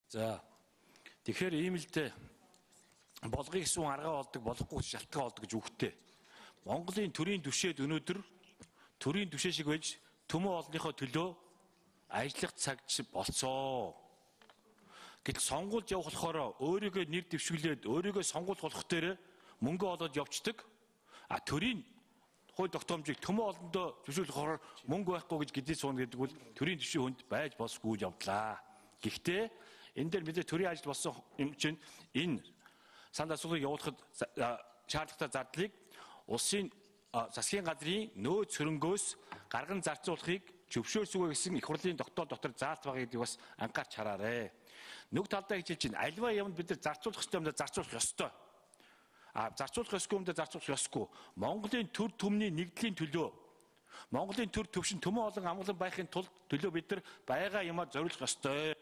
За тэгэхээр ийм л дээ болгоё гэсэн аргаа болдог, болохгүй шалтгаан болдог гэж үгтэй. Монголын төрийн түвшээд өнөөдөр төрийн түвшээ шиг байж төмөн олонныхоо төлөө ажиллах цаг болцоо. Гэтэл сонгуульд явах болохоор өөрийгөө нэр дэвшүүлээд өөрийгөө сонгуульд болох дээр мөнгө олоод явцдаг. Төрийн хууль тогтоомжийг төмөн олондоо зөвшөөрлөх болохоор мөнгө байхгүй гэж гэдээ суuna гэдэг бол төрийн түвшийн хүнд байж болсгүй явдлаа. Гэхдээ энэ дээр мэдээ төрийн ажил болсон юм чинь энэ санд асуулгыг явуулахад шаардлагатай зардлыг улсын засгийн газрын нөөц хөрөнгөөс гарган зарцуулахыг зөвшөөрсгөө гэсэн их хурлын тогтоол дотор заалт байгаа гэдгийг бас анхаарч хараарай. Нэг талдаа хэлж чинь альва юмд бид нар зарцуулах ёстой юмдаа зарцуулах ёстой. Зарцуулах ёсгүй юмдаа зарцуулах ёсгүй. Монголын төр төмний нэгдлийн төлөө Монголын төр төвшин төмөн олон амгалан байхын тулд төлөө бид нар байгаа юмаа зориулах ёстой.